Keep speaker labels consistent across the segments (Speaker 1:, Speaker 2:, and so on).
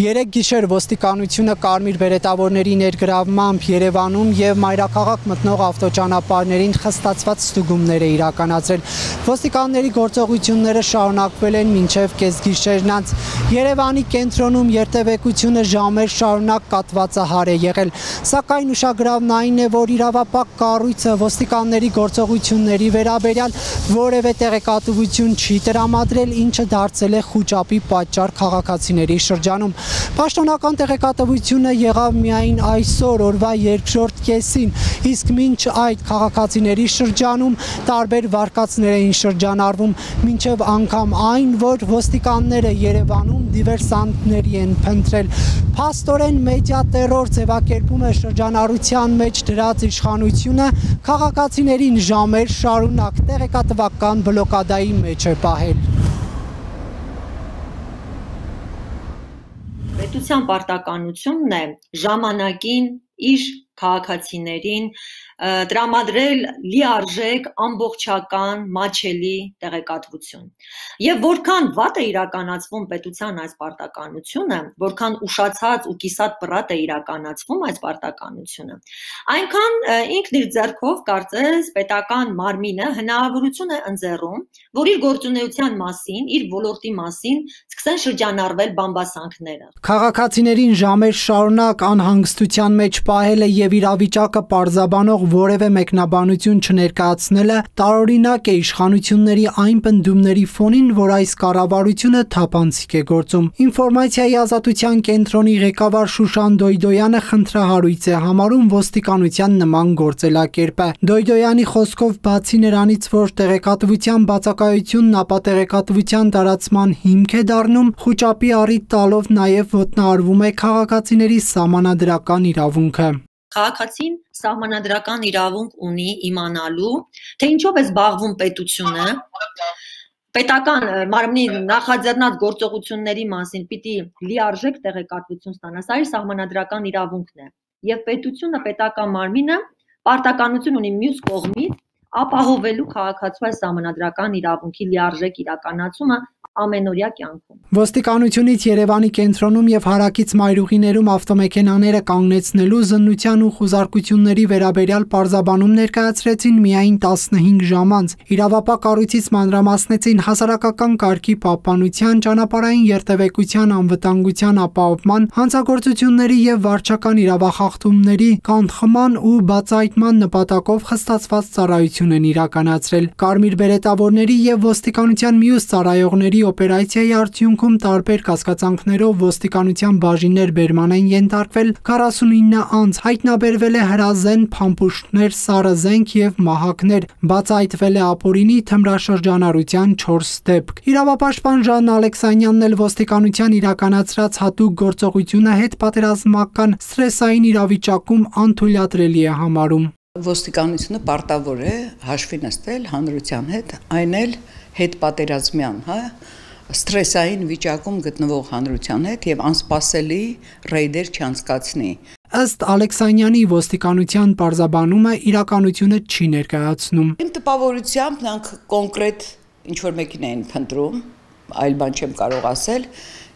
Speaker 1: Երեկ գիշեր ոստիկանությունը կարմիր բերետավորների ներգրավմամբ Երևանում եւ մայրաքաղաք մտնող ավտոճանապարհներին խստացված ստուգումներ է իրականացրել։ Ոստիկանների գործողությունները շարունակվել են մինչեւ կեսգիշերն անց։ Երևանի կենտրոնում երթևեկությունը ժամեր շարունակ կատվածահար է եղել, սակայն ուշագրավն այն է, որ իրավապահ կառույցը ոստիկանների գործողությունների վերաբերյալ որևէ տեղեկատվություն չի տրամադրել, ինչը դարձել է խուճապի պատճառ քաղաքացիների շրջանում։ Պաշտոնական տեղեկատվությունը եղավ միայն այսօր օրվա երկրորդ կեսին, իսկ մինչ այդ քաղաքացիների շրջանում տարբեր վարկածներ էին շրջանառվում, մինչև անգամ այն, որ ոստիկանները Երևանում դիվերսանտների են փնտրել։ Փաստորեն մեդիա տերոր ձևակերպում է շրջանառության մեջ դրած իշխանությունը քաղաքացիներին ժամեր շարունակ տեղեկատվական բլոկադայի մեջ է պահել։
Speaker 2: Պետության պարտականությունն է ժամանակին իր քաղաքացիներին տրամադրել լիարժեք, ամբողջական, մատչելի տեղեկատվություն։ Եվ որքան վատ է իրականացվում պետության այս պարտականությունը, որքան ուշացած ու կիսատ պռատ է իրականացվում այս պարտականությունը, այնքան ինքն իր ձեռքով կարծես պետական մարմինը հնարավորություն է ընձեռում, որ իր գործունեության մասին, իր ոլորտի մասին սկսեն շրջանառվել բամբասանքները։
Speaker 1: Քաղաքացիներին ժամեր շարունակ անհանգստության մեջ պահելը եւ իրավիճակը պարզաբանող որևէ մեկնաբանություն չներկայացնելը տարօրինակ է իշխանությունների այն պնդումների ֆոնին, որ այս կառավարությունը թափանցիկ է գործում։ Ինֆորմացիայի ազատության կենտրոնի ղեկավար Շուշան Դոյդոյանը խնդրահարույց է համարում ոստիկանության նման գործելակերպը։ Դոյդոյանի խոսքով բացի նրանից, որ տեղեկատվության բացակայությունն ապա տեղեկատվության տարածման հիմք է դառնում, խուճապի առիթ տալով նաև ոտնահարվում է քաղաքացիների սահմանադրական իրավունքը։
Speaker 2: Քաղաքացին սահմանադրական իրավունք ունի իմանալու, թե ինչով է զբաղվում պետությունը, պետական մարմնի նախաձեռնած գործողությունների մասին պիտի լիարժեք տեղեկատվություն ստանա, սա իր սահմանադրական իրավունքն է, եւ պետությունը, պետական մարմինը պարտականություն ունի մյուս կողմից ապահովելու քաղաքացու այս սահմանադրական իրավունքի լիարժեք իրականացումը ամենօրյա կյանքում։
Speaker 1: Ոստիկանությունից Երևանի կենտրոնում եւ հարակից մայրուղիներում ավտոմեքենաները կանգնեցնելու զննության ու խուզարկությունների վերաբերյալ պարզաբանում ներկայացրեցին միայն 15 ժամ անց։ Իրավապահ կառույցից մանրամասնեցին հասարակական կարգի պահպանության, ճանապարհային երթևեկության անվտանգության ապահովման, հանցագործությունների եւ վարչական իրավախախտումների կանխման ու բացահայտման նպատակով խստացված ծառայություն են իրականացրել։ Կարմիր բերետավորների եւ ոստիկանության մյուս ծառայողների օպերացիայի արդյունքում տարբեր կասկածանքներով ոստիկանության բաժիններ բերման են ենթարկվել 49 անձ, հայտնաբերվել է հրազեն փամփուշտներ, սառը զենք եւ մահակներ, բացահայտվել է ապօրինի թմրաշրջանառության 4 դեպք։ Իրավապաշտպան Ժան Ալեքսանյանն էլ ոստիկանության իրականացրած հատուկ գործողությունը հետպատերազմական սթրեսային իրավիճակում անթույլատրելի է համարում։
Speaker 3: Ոստիկանությունը պարտավոր է հաշվի նստել հանրության հետ, այն էլ հետպատերազմյան, սթրեսային վիճակում գտնվող հանրության հետ եւ անսպասելի ռեյդեր չանցկացնի։
Speaker 1: Ըստ Ալեքսանյանի ոստիկանության պարզաբանումը իրականությունը չի ներկայացնում։
Speaker 3: Իմ տպավորությամբ նրանք կոնկրետ ինչ-որ մեկին էին փնտրում, այլ բան չեմ կարող ասել,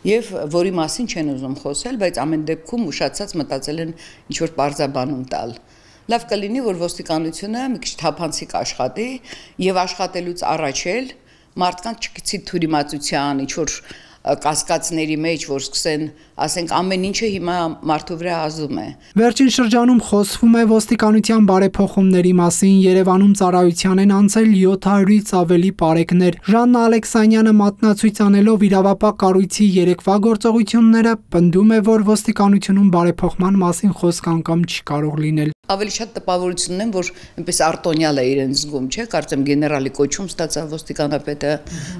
Speaker 3: եւ որի մասին չեն ուզում խոսել, բայց ամեն դեպքում ուշացած մտածել են ինչ-որ պարզաբանում տալ։ Լավ կլինի, որ ոստիկանությունը մի քիչ թափանցիկ աշխատի եւ աշխատելուց առաջ էլ մարդկանց չգցի թյուրիմացության, ինչ-որ կասկածների մեջ, որ սկսեն, ասենք, ամեն ինչը հիմա մարդու վրա ազդում է։
Speaker 1: Վերջին շրջանում խոսվում է ոստիկանության բարեփոխումների մասին, Երևանում ծառայության են անցել 700-ից ավելի պարեկներ։ Ժաննա Ալեքսանյանը մատնացույց անելով իրավապահ կառույցի երեկվա գործողությունները, պնդում է, որ ոստիկանությունում բարեփոխման մասին խոսք անգամ չի կարող լինել։
Speaker 3: Ավելի շատ տպավորությունն են, որ այնպես արտոնյալ է իրեն զգում, չէ՞, կարծեմ գեներալի կոչում ստացավ ոստիկանապետը,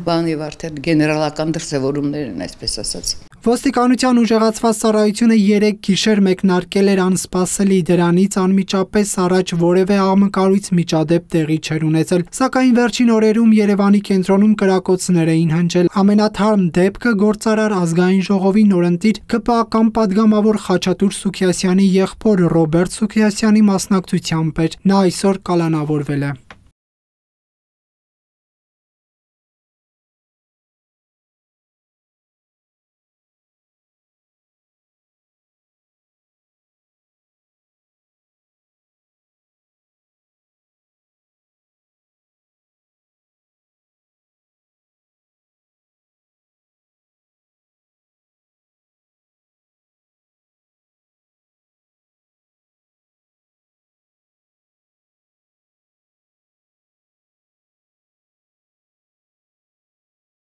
Speaker 3: բան եւ արդեն գեներալական դրսևորումներ են, այսպես ասած։
Speaker 1: Ոստիկանության ուժեղացված ծառայությունը 3 գիշեր մեկնարկել էր անսպասելի, դրանից անմիջապես առաջ որևէ աղմկարույց միջադեպ տեղի չէր ունեցել, սակայն վերջին օրերում Երևանի կենտրոնում կրակոցներ էին հնչել։ Ամենաթարմ դեպքը գործարար ազգային ժողովի նորընտիր ԿՊԱ-ական падգամավոր Խաչատուր Սուքիասյանի եղբոր Ռոբերտ Սուքիասյանի մասնակցությամբ էր։ Նա այսօր կալանավորվել է։